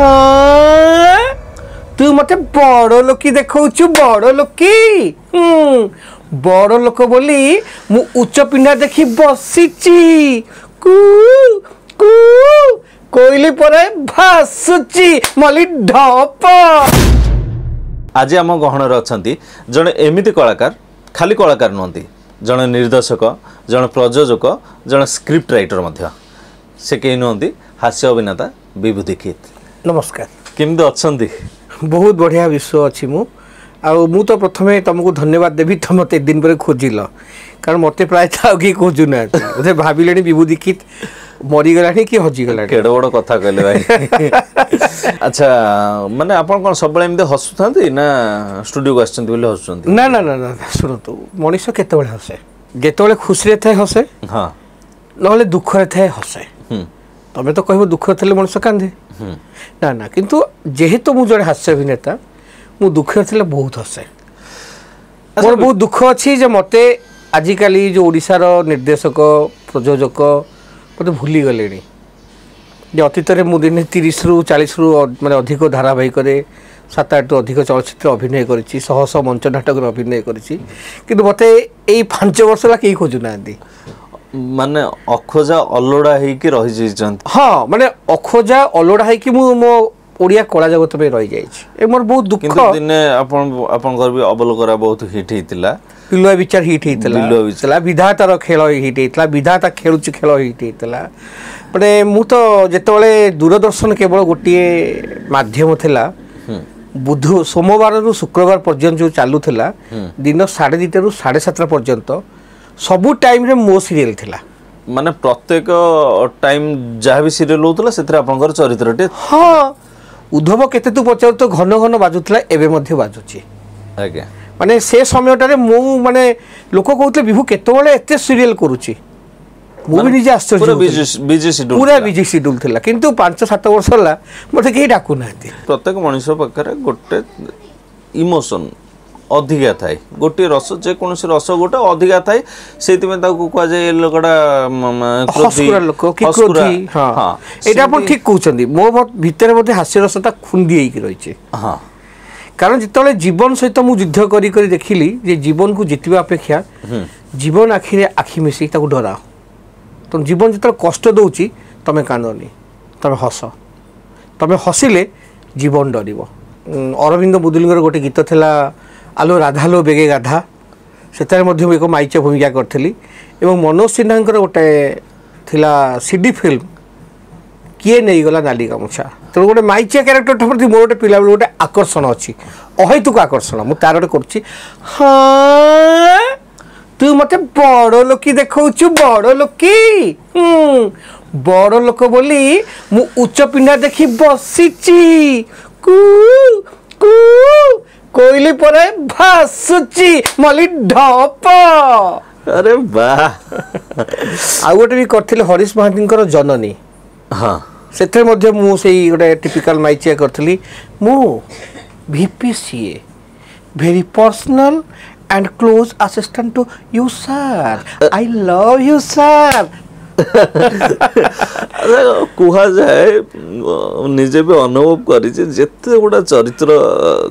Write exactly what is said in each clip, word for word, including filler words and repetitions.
ହଁ, ତୁ ମତେ ବଡ଼ ଲୋକି ଦେଖଉଛୁ, ବଡ଼ ଲୋକି। ହୁଁ, ବଡ଼ ଲୋକ ବୋଲି ମୁଁ ଉଚ୍ଚ ପିଣ୍ଡା ଦେଖି ବସିଛି। କୁ କୁ କୋଇଲି ପରେ ଭାସୁଛି ମଲି ଢପ। ଆଜି ଆମ ଗହଣରେ ଅଛନ୍ତି ଜଣେ ଏମିତି କଳାକାର, ଖାଲି କଳାକାର ନୁହନ୍ତି, ଜଣେ ନିର୍ଦ୍ଦେଶକ, ଜଣେ ପ୍ରଯୋଜକ, ଜଣେ ସ୍କ୍ରିପ୍ଟ ରାଇଟର ମଧ୍ୟ। ସେ କେହି ନୁହନ୍ତି, ହାସ୍ୟ ଅଭିନେତା ବିଭୁ ଦୀକ୍ଷିତ। ନମସ୍କାର। କେମିତି ଅଛନ୍ତି? ବହୁତ ବଢ଼ିଆ ବିଶ୍ୱ ଅଛି ମୁଁ। ଆଉ ମୁଁ ତ ପ୍ରଥମେ ତୁମକୁ ଧନ୍ୟବାଦ ଦେବି, ତ ମୋତେ ଏତେ ଦିନ ପରେ ଖୋଜିଲ, କାରଣ ମୋତେ ପ୍ରାୟତଃ ଆଉ କେହି ଖୋଜୁନାହାନ୍ତି। ବୋଧେ ଭାବିଲେଣି ବିଭୁ ଦୀକ୍ଷିତ ମରିଗଲାଣି କି ହଜିଗଲାଣି। କେଡ଼େ ବଡ଼ କଥା କହିଲେ ଭାଇ। ଆଚ୍ଛା, ମାନେ ଆପଣ କ'ଣ ସବୁବେଳେ ଏମିତି ହସୁଥାନ୍ତି ନା ଷ୍ଟୁଡ଼ିଓକୁ ଆସିଛନ୍ତି ବୋଲି ହସୁଛନ୍ତି? ନା ନା ନା ନା, ଶୁଣନ୍ତୁ, ମଣିଷ କେତେବେଳେ ହସେ? ଯେତେବେଳେ ଖୁସିରେ ଥାଏ ହସେ, ହଁ, ନହେଲେ ଦୁଃଖରେ ଥାଏ ହସେ। ତମେ ତ କହିବ ଦୁଃଖରେ ଥିଲେ ମଣିଷ କାନ୍ଦେ। ନା ନା, କିନ୍ତୁ ଯେହେତୁ ମୁଁ ଜଣେ ହାସ୍ୟ ଅଭିନେତା, ମୁଁ ଦୁଃଖରେ ଥିଲେ ବହୁତ ହସେ। ମୋର ବହୁତ ଦୁଃଖ ଅଛି ଯେ ମୋତେ ଆଜିକାଲି ଯେଉଁ ଓଡ଼ିଶାର ନିର୍ଦ୍ଦେଶକ, ପ୍ରଯୋଜକ ମୋତେ ଭୁଲିଗଲେଣି। ଯେ ଅତୀତରେ ମୁଁ ଦିନେ ତିରିଶରୁ ଚାଳିଶରୁ ମାନେ ଅଧିକ ଧାରାବାହିକରେ, ସାତ ଆଠରୁ ଅଧିକ ଚଳଚ୍ଚିତ୍ର ଅଭିନୟ କରିଛି, ଶହ ଶହ ମଞ୍ଚ ନାଟକରେ ଅଭିନୟ କରିଛି, କିନ୍ତୁ ମୋତେ ଏଇ ପାଞ୍ଚ ବର୍ଷ ହେଲା କେହି ଖୋଜୁନାହାନ୍ତି। ମାନେ ଅଖୋଜା ଅଲୋଡ଼ା ହେଇକି ରହିଯାଇଛନ୍ତି। ହଁ, ମାନେ ଅଖୋଜା ଅଲୋଡ଼ା ହେଇକି ମୁଁ ମୋ ଓଡ଼ିଆ କଳା ଜଗତ ପାଇଁ ରହିଯାଇଛି, ଏ ମୋର ବହୁତ ଦୁଃଖ। ଦିନେ ଆପଣ ଆପଣଙ୍କର ବି ଅବଲୋକରା ବହୁତ ହିଟ୍ ହେଇଥିଲା, ବିଲୁଆ ବିଚାର ହିଟ୍ ହେଇଥିଲା, ବିଧାତାର ଖେଳ ହିଟ୍ ହେଇଥିଲା, ବିଧାତା ଖେଳୁଛି ଖେଳ ହିଟ୍ ହେଇଥିଲା। ମାନେ ମୁଁ ତ ଯେତେବେଳେ ଦୂରଦର୍ଶନ କେବଳ ଗୋଟିଏ ମାଧ୍ୟମ ଥିଲା, ବୁଧ ସୋମବାରରୁ ଶୁକ୍ରବାର ପର୍ଯ୍ୟନ୍ତ ଯେଉଁ ଚାଲୁଥିଲା, ଦିନ ସାଢ଼େ ଦୁଇଟାରୁ ସାଢ଼େ ସାତଟା ପର୍ଯ୍ୟନ୍ତ ସବୁ ଟାଇମ୍ରେ ମୋ ସିରିଏଲ୍ ଥିଲା। ମାନେ ପ୍ରତ୍ୟେକ ଟାଇମ୍ ଯାହା ବି ସିରିଏଲ୍ ହେଉଥିଲା ସେଥିରେ ଆପଣଙ୍କର ଚରିତ୍ରଟି। ହଁ, ଉଦ୍ଧବ କେତେ ତୁ ପଚାରୁ ତ ଘନ ଘନ ବାଜୁଥିଲା, ଏବେ ମଧ୍ୟ ବାଜୁଛି। ଆଜ୍ଞା। ମାନେ ସେ ସମୟଟାରେ ମୁଁ ମାନେ ଲୋକ କହୁଥିଲେ ବିଭୁ କେତେବେଳେ ଏତେ ସିରିଏଲ୍ କରୁଛି, ମୁଁ ବି ନିଜେ ଆଶ୍ଚର୍ଯ୍ୟ। ପୁରା ବିଜି ସିଡ୍ୟୁଲ୍ ଥିଲା, କିନ୍ତୁ ପାଞ୍ଚ ସାତ ବର୍ଷ ହେଲା ମୋତେ କେହି ଡାକୁନାହାନ୍ତି। ପ୍ରତ୍ୟେକ ମଣିଷ ପାଖରେ ଗୋଟେ ଇମୋସନ୍ ଅଧିକା ଥାଏ, ଗୋଟିଏ ରସ, ଯେକୌଣସି ରସ ଗୋଟେ ଅଧିକା ଥାଏ, ସେଇଥିପାଇଁ ତାକୁ କୁହାଯାଏ ଏ ଲୋକଟା ହସ୍କୁରା ଲୋକ କି କ୍ରୋଧୀ। ହଁ, ଏଇଟା ଆପଣ ଠିକ କହୁଛନ୍ତି। ମୋ ଭିତରେ ବୋଧେ ହାସ୍ୟ ରସଟା ଖୁନ୍ଦି ହେଇକି ରହିଛି। ହଁ, କାରଣ ଯେତେବେଳେ ଜୀବନ ସହିତ ମୁଁ ଯୁଦ୍ଧ କରି କରି ଦେଖିଲି ଯେ ଜୀବନକୁ ଜିତିବା ଅପେକ୍ଷା ଜୀବନ ଆଖିରେ ଆଖି ମିଶେଇ ତାକୁ ଡରାଅ। ତେଣୁ ଜୀବନ ଯେତେବେଳେ କଷ୍ଟ ଦେଉଛି ତମେ କାନ୍ଦନି, ତମେ ହସ। ତମେ ହସିଲେ ଜୀବନ ଡରିବ। ଅରବିନ୍ଦ ମୁଦୁଲିଙ୍କର ଗୋଟେ ଗୀତ ଥିଲା ଆଲୋ ରାଧାଲୋ ବେଗେ ଗାଧା, ସେଥିରେ ମଧ୍ୟ ମୁଁ ଏକ ମାଇଚ ଭୂମିକା କରିଥିଲି। ଏବଂ ମନୋଜ ସିହ୍ନାଙ୍କର ଗୋଟେ ଥିଲା ସିଡି ଫିଲ୍ମ କିଏ ନେଇଗଲା ନାଲି ଗାମୁଛା। ତେଣୁ ଗୋଟେ ମାଇଚିଆ କ୍ୟାରେକ୍ଟରଟା ପ୍ରତି ମୋର ଗୋଟେ ପିଲାବେଳୁ ଗୋଟେ ଆକର୍ଷଣ ଅଛି, ଅହେତୁକ ଆକର୍ଷଣ। ମୁଁ ତାର ଗୋଟେ କରୁଛି। ହଁ, ତୁ ମତେ ବଡ଼ ଲୋକି ଦେଖଉଛୁ, ବଡ଼ ଲୋକି। ହୁଁ, ବଡ଼ ଲୋକ ବୋଲି ମୁଁ ଉଚ୍ଚ ପିଣ୍ଡା ଦେଖି ବସିଛି। କୁ କୁ କୋଇଲି ପରେ ଭାସୁଛି ମଲି ଢପ। ଆରେ ବାহ। ଆଉ ଗୋଟେ ବି କରିଥିଲି ହରିଶ ମହାନ୍ତିଙ୍କର ଜନନୀ। ହଁ, ସେଥିରେ ମଧ୍ୟ ମୁଁ ସେଇ ଗୋଟେ ଟିପିକାଲ ମାଇଚିଆ କରିଥିଲି। ମୁଁ V P C A, very personal and close assistant to you sir, I love you sir. କୁହାଯାଏ, ନିଜେ ବି ଅନୁଭବ କରିଛି, ଯେତେ ଗୁଡ଼ା ଚରିତ୍ର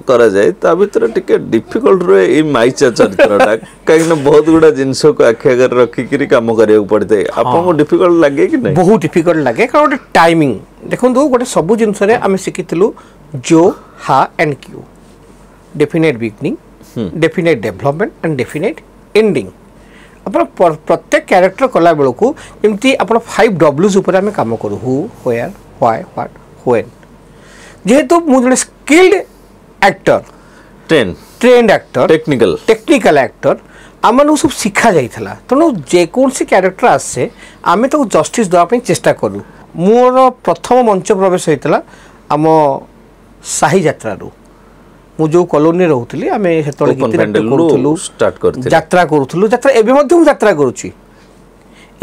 କରାଯାଏ ତା ଭିତରେ ଟିକେ ଡିଫିକଲ୍ଟ ରୁହେ ଏଇ ମାଇଚା ଚରିତ୍ରଟା, କାହିଁକିନା ବହୁତ ଗୁଡ଼ା ଜିନିଷକୁ ଆଖି ଆଗରେ ରଖିକିରି କାମ କରିବାକୁ ପଡ଼ିଥାଏ। ଆପଣଙ୍କୁ ଡିଫିକଲ୍ଟ ଲାଗେ କି ନାହିଁ? ବହୁତ ଡିଫିକଲ୍ଟ ଲାଗେ, କାରଣ ଗୋଟେ ଟାଇମିଂ ଦେଖନ୍ତୁ, ଗୋଟେ ସବୁ ଜିନିଷରେ ଆମେ ଶିଖିଥିଲୁ ଜୋ ହା and Q, definite beginning, definite development and definite ending. ଆପଣ ପ୍ରତ୍ୟେକ କ୍ୟାରେକ୍ଟର କଲାବେଳକୁ ଯେମିତି ଆପଣ ଫାଇଭ୍ ଡବ୍ଲୁଜ୍ ଉପରେ ଆମେ କାମ କରୁ, ହୁ, ହ୍ୱେୟାର, why, what, when. ଯେହେତୁ ମୁଁ ଜଣେ skilled actor, train trained actor, technical technical actor, ଆମମାନଙ୍କୁ ସବୁ ଶିଖା ଯାଇଥିଲା। ତେଣୁ ଯେକୌଣସି କ୍ୟାରେକ୍ଟର ଆସେ ଆମେ ତାକୁ ଜଷ୍ଟିସ୍ ଦେବା ପାଇଁ ଚେଷ୍ଟା କରୁ। ମୋର ପ୍ରଥମ ମଞ୍ଚ ପ୍ରବେଶ ହେଇଥିଲା ଆମ ସାହି ଯାତ୍ରାରୁ। ମୁଁ ଯେଉଁ କଲୋନୀରେ ରହୁଥିଲି, ଆମେ ସେତେବେଳେ ଗୀତି ନାଟ୍ୟ କରୁଥିଲୁ, ଯାତ୍ରା କରୁଥିଲୁ। ଯାତ୍ରା ଏବେ ମଧ୍ୟ ମୁଁ ଯାତ୍ରା କରୁଛି,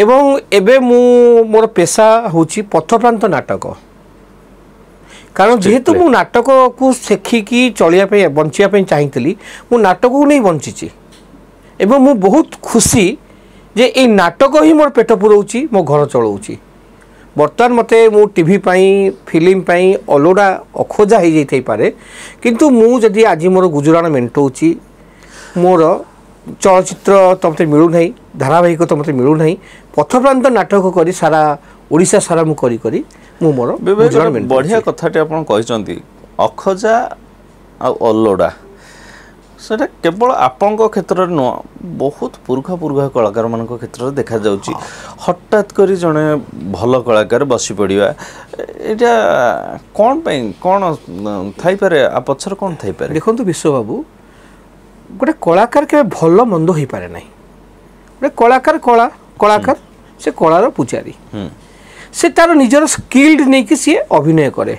ଏବଂ ଏବେ ମୁଁ ମୋର ପେସା ହେଉଛି ପଥପ୍ରାନ୍ତ ନାଟକ। କାରଣ ଯେହେତୁ ମୁଁ ନାଟକକୁ ଶିଖିକି ଚଳିବା ପାଇଁ, ବଞ୍ଚିବା ପାଇଁ ଚାହିଁଥିଲି, ମୁଁ ନାଟକକୁ ନେଇ ବଞ୍ଚିଛି। ଏବଂ ମୁଁ ବହୁତ ଖୁସି ଯେ ଏଇ ନାଟକ ହିଁ ମୋର ପେଟ ପୁରଉଛି, ମୋ ଘର ଚଳାଉଛି। ବର୍ତ୍ତମାନ ମୋତେ ମୁଁ ଟିଭି ପାଇଁ ଫିଲ୍ମ ପାଇଁ ଅଲୋଡ଼ା ଅଖୋଜା ହେଇଯାଇଥାଇପାରେ, କିନ୍ତୁ ମୁଁ ଯଦି ଆଜି ମୋର ଗୁଜୁରାଣ ମେଣ୍ଟଉଛି, ମୋର ଚଳଚ୍ଚିତ୍ର ତ ମୋତେ ମିଳୁନାହିଁ, ଧାରାବାହିକ ତ ମୋତେ ମିଳୁନାହିଁ, ପଥପ୍ରାନ୍ତ ନାଟକ କରି ସାରା ଓଡ଼ିଶା ସାରା ମୁଁ କରି କରି ମୁଁ ମୋର ଗୁଜୁରାଣ ମେଣ୍ଟଉଛି। ବଢ଼ିଆ କଥାଟି ଆପଣ କହିଛନ୍ତି, ଅଖୋଜା ଆଉ ଅଲୋଡ଼ା ସେଟା କେବଳ ଆପଣଙ୍କ କ୍ଷେତ୍ରରେ ନୁହଁ, ବହୁତ ପୁରୁଖା ପୁରୁଖା କଳାକାରମାନଙ୍କ କ୍ଷେତ୍ରରେ ଦେଖାଯାଉଛି। ହଠାତ୍ କରି ଜଣେ ଭଲ କଳାକାର ବସି ପଡ଼ିବା, ଏଇଟା କ'ଣ ପାଇଁ, କ'ଣ ଥାଇପାରେ ଆ ପଛରେ, କ'ଣ ଥାଇପାରେ? ଦେଖନ୍ତୁ ବିଶ୍ୱବାବୁ, ଗୋଟେ କଳାକାର କେବେ ଭଲ ମନ୍ଦ ହୋଇପାରେ ନାହିଁ। ଗୋଟେ କଳାକାର କଳା କଳାକାର ସେ କଳାର ପୂଜାରୀ, ସେ ତାର ନିଜର ସ୍କିଲ୍ଡ ନେଇକି ସିଏ ଅଭିନୟ କରେ।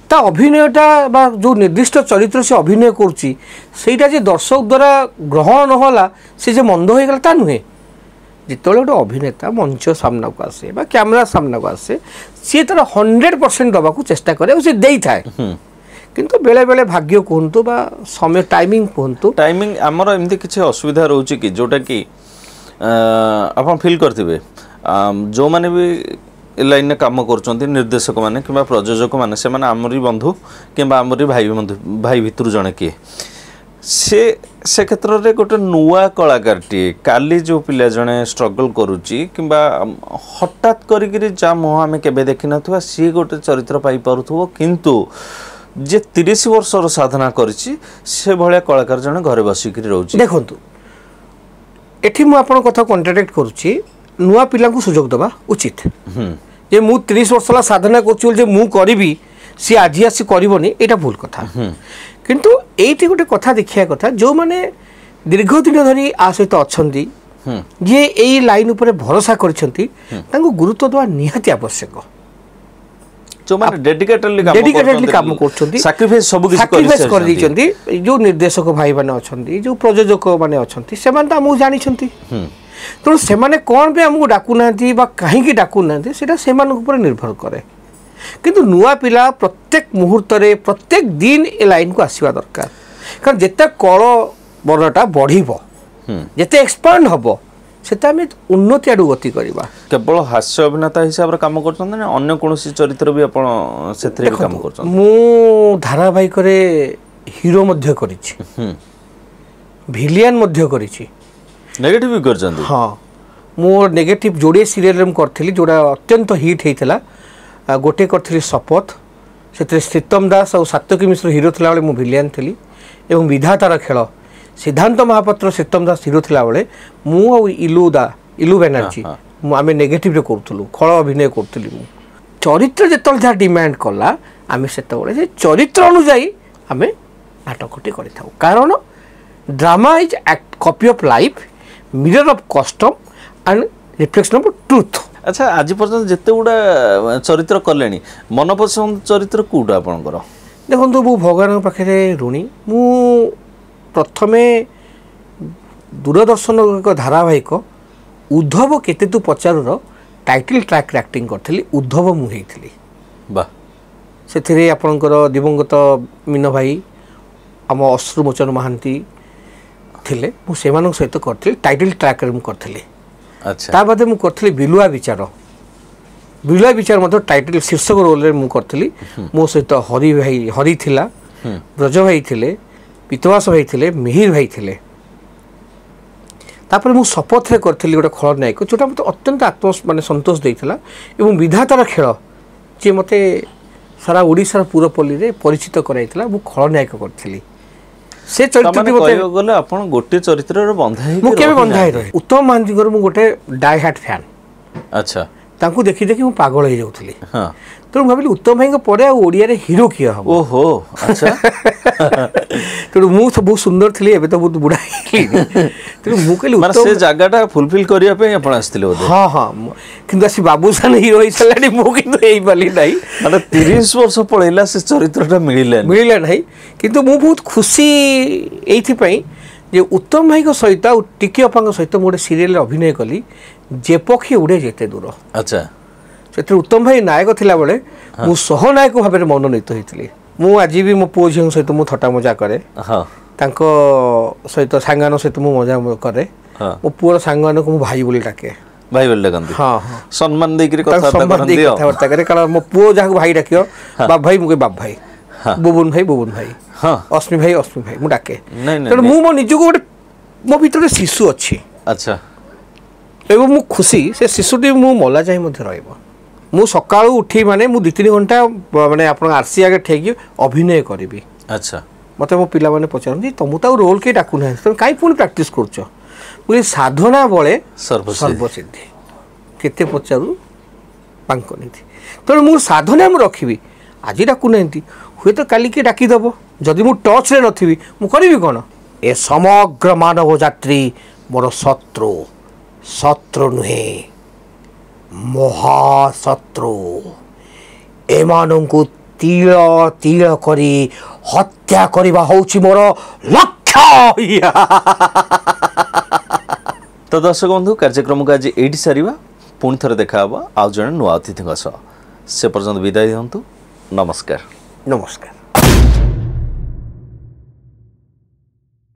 ତା ଅଭିନୟଟା ବା ଯେଉଁ ନିର୍ଦ୍ଦିଷ୍ଟ ଚରିତ୍ର ସେ ଅଭିନୟ କରୁଛି ସେଇଟା ଯେ ଦର୍ଶକ ଦ୍ୱାରା ଗ୍ରହଣ ନହେଲା ସେ ଯେ ମନ୍ଦ ହୋଇଗଲା ତା ନୁହେଁ। ଯେତେବେଳେ ଗୋଟେ ଅଭିନେତା ମଞ୍ଚ ସାମ୍ନାକୁ ଆସେ ବା କ୍ୟାମେରା ସାମ୍ନାକୁ ଆସେ, ସିଏ ତାର ହଣ୍ଡ୍ରେଡ଼ ପରସେଣ୍ଟ ଦେବାକୁ ଚେଷ୍ଟା କରେ ଆଉ ସେ ଦେଇଥାଏ। କିନ୍ତୁ ବେଳେବେଳେ ଭାଗ୍ୟ କୁହନ୍ତୁ ବା ସମୟ ଟାଇମିଂ କୁହନ୍ତୁ, ଟାଇମିଂ ଆମର ଏମିତି କିଛି ଅସୁବିଧା ରହୁଛି କି ଯେଉଁଟାକି ଆପଣ ଫିଲ୍ କରିଥିବେ, ଯେଉଁମାନେ ବି ଏ ଲାଇନ୍ରେ କାମ କରୁଛନ୍ତି, ନିର୍ଦ୍ଦେଶକମାନେ କିମ୍ବା ପ୍ରଯୋଜକମାନେ, ସେମାନେ ଆମରି ବନ୍ଧୁ କିମ୍ବା ଆମରି ଭାଇ ବନ୍ଧୁ, ଭାଇ ଭିତରୁ ଜଣେ କିଏ, ସେ ସେ କ୍ଷେତ୍ରରେ ଗୋଟେ ନୂଆ କଳାକାରଟିଏ କାଲି ଯେଉଁ ପିଲା ଜଣେ ଷ୍ଟ୍ରଗଲ୍ କରୁଛି କିମ୍ବା ହଠାତ୍ କରିକିରି ଯାହା ମୁହଁ ଆମେ କେବେ ଦେଖିନଥିବା ସିଏ ଗୋଟେ ଚରିତ୍ର ପାଇପାରୁଥିବ, କିନ୍ତୁ ଯେ ତିରିଶ ବର୍ଷର ସାଧନା କରିଛି ସେ ଭଳିଆ କଳାକାର ଜଣେ ଘରେ ବସିକିରି ରହୁଛି। ଦେଖନ୍ତୁ ଏଠି ମୁଁ ଆପଣଙ୍କ କଥା କଣ୍ଟ୍ରାଡିକ୍ଟ କରୁଛି, ନୂଆ ପିଲାଙ୍କୁ ସୁଯୋଗ ଦେବା ଉଚିତ। ଯେ ମୁଁ ତିରିଶ ବର୍ଷ ହେଲା ସାଧନା କରୁଛି ବୋଲି ଯେ ମୁଁ କରିବି ସିଏ ଆଜି ଆସି କରିବନି, ଏଇଟା ଭୁଲ କଥା। କିନ୍ତୁ ଏଇଠି ଗୋଟେ କଥା ଦେଖିବା କଥା, ଯେଉଁମାନେ ଦୀର୍ଘ ଦିନ ଧରି ଆ ସହିତ ଅଛନ୍ତି, ଯିଏ ଏଇ ଲାଇନ୍ ଉପରେ ଭରସା କରିଛନ୍ତି, ତାଙ୍କୁ ଗୁରୁତ୍ୱ ଦେବା ନିହାତି ଆବଶ୍ୟକ। ଯେଉଁମାନେ ଡେଡିକେଟେଡଲି ଡେଡିକେଟେଡଲି କାମ କରୁଛନ୍ତି, ସାକ୍ରିଫାଇସ୍ ସବୁ କିଛି ସାକ୍ରିଫାଇସ୍ କରିଦେଇଛନ୍ତି, ଯେଉଁ ନିର୍ଦ୍ଦେଶକ ଭାଇମାନେ ଅଛନ୍ତି, ଯେଉଁ ପ୍ରଯୋଜକ ମାନେ ଅଛନ୍ତି, ସେମାନେ ତ ଆମକୁ ଜାଣିଛନ୍ତି। ତେଣୁ ସେମାନେ କ'ଣ ପାଇଁ ଆମକୁ ଡାକୁନାହାନ୍ତି ବା କାହିଁକି ଡାକୁନାହାନ୍ତି ସେଇଟା ସେମାନଙ୍କ ଉପରେ ନିର୍ଭର କରେ। କିନ୍ତୁ ନୂଆ ପିଲା ପ୍ରତ୍ୟେକ ମୁହୂର୍ତ୍ତରେ ପ୍ରତ୍ୟେକ ଦିନ ଏ ଲାଇନ୍କୁ ଆସିବା ଦରକାର। କାରଣ ଯେତେ କଳ ବର୍ଣ୍ଣଟା ବଢ଼ିବ, ଯେତେ ଏକ୍ସପାଣ୍ଡ ହେବ, ସେତେ ଆମେ ଉନ୍ନତି ଆଡ଼କୁ ଗତି କରିବା। କେବଳ ହାସ୍ୟ ଅଭିନେତା ହିସାବରେ କାମ କରୁଛନ୍ତି ନା ଅନ୍ୟ କୌଣସି ଚରିତ୍ର ବି ଆପଣ ସେଥିରେ ବି କାମ କରୁଛନ୍ତି? ମୁଁ ଧାରାବାହିକରେ ହିରୋ ମଧ୍ୟ କରିଛି, ଭିଲିଆନ ମଧ୍ୟ କରିଛି, ନେଗେଟିଭ୍ ବି କରିଛନ୍ତି। ହଁ, ମୁଁ ନେଗେଟିଭ୍ ଯୋଡ଼ିଏ ସିରିଏଲ୍ରେ ମୁଁ କରିଥିଲି ଯେଉଁଟା ଅତ୍ୟନ୍ତ ହିଟ୍ ହେଇଥିଲା। ଗୋଟେ କରିଥିଲି ଶପଥ, ସେଥିରେ ଶ୍ରୀତମ ଦାସ ଆଉ ସାତ୍ୟକୀ ମିଶ୍ର ହିରୋ ଥିଲାବେଳେ ମୁଁ ଭିଲିଆନ ଥିଲି, ଏବଂ ବିଧାତାର ଖେଳ ସିଦ୍ଧାନ୍ତ ମହାପାତ୍ର ଶ୍ରୀତମ ଦାସ ହିରୋ ଥିଲାବେଳେ ମୁଁ ଆଉ ଇଲୁ ଦା ଇଲୁ ବାନାର୍ଜୀ ମୁଁ ଆମେ ନେଗେଟିଭ୍ରେ କରୁଥିଲୁ, ଖଳ ଅଭିନୟ କରୁଥିଲି ମୁଁ। ଚରିତ୍ର ଯେତେବେଳେ ଯାହା ଡିମାଣ୍ଡ କଲା ଆମେ ସେତେବେଳେ ସେ ଚରିତ୍ର ଅନୁଯାୟୀ ଆମେ ନାଟକଟି କରିଥାଉ। କାରଣ drama is copy of life, mirror of custom and reflection of truth. ଆଚ୍ଛା, ଆଜି ପର୍ଯ୍ୟନ୍ତ ଯେତେ ଗୁଡ଼ା ଚରିତ୍ର କଲେଣି, ମନପସନ୍ଦ ଚରିତ୍ର କେଉଁଟା ଆପଣଙ୍କର? ଦେଖନ୍ତୁ, ମୁଁ ଭଗବାନଙ୍କ ପାଖରେ ଋଣୀ। ମୁଁ ପ୍ରଥମେ ଦୂରଦର୍ଶନ ଏକ ଧାରାବାହିକ ଉଦ୍ଧବ କେତେ ତୁ ପଚାରୁର ଟାଇଟଲ୍ ଟ୍ରାକ୍ରେ ଆକ୍ଟିଂ କରିଥିଲି, ଉଦ୍ଧବ ମୁଁ ହେଇଥିଲି। ବା ସେଥିରେ ଆପଣଙ୍କର ଦିବଙ୍ଗତ ମୀନ ଭାଇ, ଆମ ଅଶ୍ରୁମୋଚନ ମହାନ୍ତି ଥିଲେ, ମୁଁ ସେମାନଙ୍କ ସହିତ କରିଥିଲି, ଟାଇଟଲ୍ ଟ୍ରାକ୍ରେ ମୁଁ କରିଥିଲି। ଆଚ୍ଛା, ତା ବାଦେ ମୁଁ କରିଥିଲି ବିଲୁଆ ବିଚାର, ବିଲୁଆ ବିଚାର ମଧ୍ୟ ଟାଇଟଲ୍ ଶୀର୍ଷକ ରୋଲ୍ରେ ମୁଁ କରିଥିଲି। ମୋ ସହିତ ହରି ଭାଇ, ହରି ଥିଲା, ବ୍ରଜ ଭାଇ ଥିଲେ, ପିତବାସ ଭାଇ ଥିଲେ, ମିହିର ଭାଇ ଥିଲେ। ତାପରେ ମୁଁ ଶପଥରେ କରିଥିଲି ଗୋଟେ ଖଳନାୟକ, ଯେଉଁଟା ମୋତେ ଅତ୍ୟନ୍ତ ଆତ୍ମ ମାନେ ସନ୍ତୋଷ ଦେଇଥିଲା। ଏବଂ ବିଧାତାର ଖେଳ ଯିଏ ମୋତେ ସାରା ଓଡ଼ିଶାର ପୁରପଲ୍ଲୀରେ ପରିଚିତ କରାଇଥିଲା, ମୁଁ ଖଳନାୟକ କରିଥିଲି। ସେ ଚରିତ୍ରଟି ମୋତେ ଗଲେ ଆପଣ ଗୋଟିଏ ଚରିତ୍ରରେ ବନ୍ଧା ହେଇ ମୁଁ କେବେ ବନ୍ଧା ହେଇ ରହେ। ଉତ୍ତମ ମହାନ୍ତିଙ୍କର ମୁଁ ଗୋଟେ ଡାଇ ହାର୍ଟ ଫ୍ୟାନ୍। ଆଚ୍ଛା, ତାଙ୍କୁ ଦେଖି ଦେଖି ମୁଁ ପାଗଳ ହେଇଯାଉଥିଲି। ତେଣୁ ଭାବିଲି ଉତ୍ତମ ଭାଇଙ୍କ ପରେ ଆଉ ଓଡ଼ିଆରେ ହିରୋ କିଏ ହବ। ଓହୋ, ଆଚ୍ଛା। ତେଣୁ ମୁଁ ବହୁତ ସୁନ୍ଦର ଥିଲି, ଏବେ ତ ବହୁତ ବୁଢ଼ା ହେଇଗଲି। ତେଣୁ ମୁଁ କହିଲି ସେ ଜାଗାଟା ଫୁଲଫିଲ୍ କରିବା ପାଇଁ ଆପଣ ଆସିଥିଲେ ବୋଧେ? ହଁ ହଁ, କିନ୍ତୁ ଆସି ବାବୁସାନ ହିରୋ ହେଇସାରିଲାଣି, ମୁଁ କିନ୍ତୁ ହେଇପାରିଲି ନାହିଁ। ମାନେ ତିରିଶ ବର୍ଷ ପଳେଇଲା, ସେ ଚରିତ୍ରଟା ମିଳିଲା ମିଳିଲା ନାହିଁ। କିନ୍ତୁ ମୁଁ ବହୁତ ଖୁସି ଏଇଥିପାଇଁ ଯେ ଉତ୍ତମ ଭାଇଙ୍କ ସହିତ ଆଉ ଟିକି ଅପାଙ୍କ ସହିତ ମୁଁ ଗୋଟେ ସିରିଏଲରେ ଅଭିନୟ କଲି, ଯେ ପକ୍ଷୀ ଉଡ଼େ ଯେତେ ଦୂର। ଆଚ୍ଛା, ସେଥିରେ ଉତ୍ତମ ଭାଇ ନାୟକ ଥିଲାବେଳେ ମୁଁ ସହନାୟକ ଭାବରେ ମନୋନୀତ ହେଇଥିଲି। ମୁଁ ଆଜି ବି ମୋ ପୁଅ ଝିଅଙ୍କ ସହିତ ମୁଁ ଥଟ୍ଟା ମଜା କରେ, ତାଙ୍କ ସହିତ ସାଙ୍ଗମାନଙ୍କ ସହିତ ମୁଁ ମଜା କରେ। ମୋ ପୁଅର ସାଙ୍ଗମାନଙ୍କୁ ମୁଁ ଭାଇ ବୋଲି ଡାକେ। ଭାଇ ବୋଲି ଡାକନ୍ତି? ହଁ ହଁ। ସମ୍ମାନ ଦେଇକିରି ତାକୁ କଥାବାର୍ତ୍ତା ସମ୍ମାନ ଦେଇ କରନ୍ତି ଆଉ। କଥାବାର୍ତ୍ତା କରେ, କାରଣ ମୋ ପୁଅ ଯାହାକୁ ଭାଇ ଡାକିବ, ବାପ ଭାଇ, ମୁଁ କହେ ବାପ ଭାଇ, ହଁ। ବୁବୁନ ଭାଇ, ବୁବୁନ ଭାଇ, ହଁ ଅସ୍ମି ଭାଇ, ଅସ୍ମି ଭାଇ, ମୁଁ ଡାକେ। ନାଇଁ, ନାଇଁ, ତେଣୁ ମୁଁ ମୋ ନିଜକୁ ଗୋଟେ, ମୋ ଭିତରେ ଗୋଟେ ଶିଶୁ ଅଛି ଆଚ୍ଛା ଏବଂ ମୁଁ ଖୁସି ସେ ଶିଶୁଟି ମୁଁ ମଲା ଯାଏଁ ମଧ୍ୟ ରହିବ। ମୁଁ ସକାଳୁ ଉଠି ମାନେ ମୁଁ ଦୁଇ ତିନି ଘଣ୍ଟା ମାନେ ଆପଣଙ୍କ ଆରସି ଆଗରେ ଠିଆଇକି ଅଭିନୟ କରିବି। ଆଚ୍ଛା ମୋତେ ମୋ ପିଲାମାନେ ପଚାରନ୍ତି, ତମକୁ ତ ଆଉ ରୋଲ୍ କେହି ଡାକୁନାହାନ୍ତି, ତମେ କାହିଁ ପୁଣି ପ୍ରାକ୍ଟିସ୍ କରୁଛ? ମୁଁ କହିଲି, ସାଧନା ବଳେ ସର୍ବସିଦ୍ଧି। ସର୍ବସିଦ୍ଧି, କେତେ ପଚାରୁ ବାଙ୍କ ନିଧି। ତେଣୁ ମୁଁ ସାଧନା ମୁଁ ରଖିବି। ଆଜି ଡାକୁନାହାନ୍ତି, ହୁଏତ କାଲି କିଏ ଡାକିଦେବ। ଯଦି ମୁଁ ଟଚ୍ରେ ନଥିବି, ମୁଁ କରିବି କ'ଣ? ଏ ସମଗ୍ର ମାନବ ଯାତ୍ରୀ ମୋର ଶତ୍ରୁ, ଶତ୍ରୁ ନୁହେଁ, ମହାଶତ୍ରୁ। ଏମାନଙ୍କୁ ତିଳ ତିଳ କରି ହତ୍ୟା କରିବା ହେଉଛି ମୋର ଲକ୍ଷ୍ୟ। ତ ଦର୍ଶକ ବନ୍ଧୁ, କାର୍ଯ୍ୟକ୍ରମକୁ ଆଜି ଏଇଠି ସାରିବା। ପୁଣି ଥରେ ଦେଖା ହେବ ଆଉ ଜଣେ ନୂଆ ଅତିଥିଙ୍କ ସହ। ସେ ପର୍ଯ୍ୟନ୍ତ ବିଦାୟ ଦିଅନ୍ତୁ, ନମସ୍କାର। ନମସ୍କାର।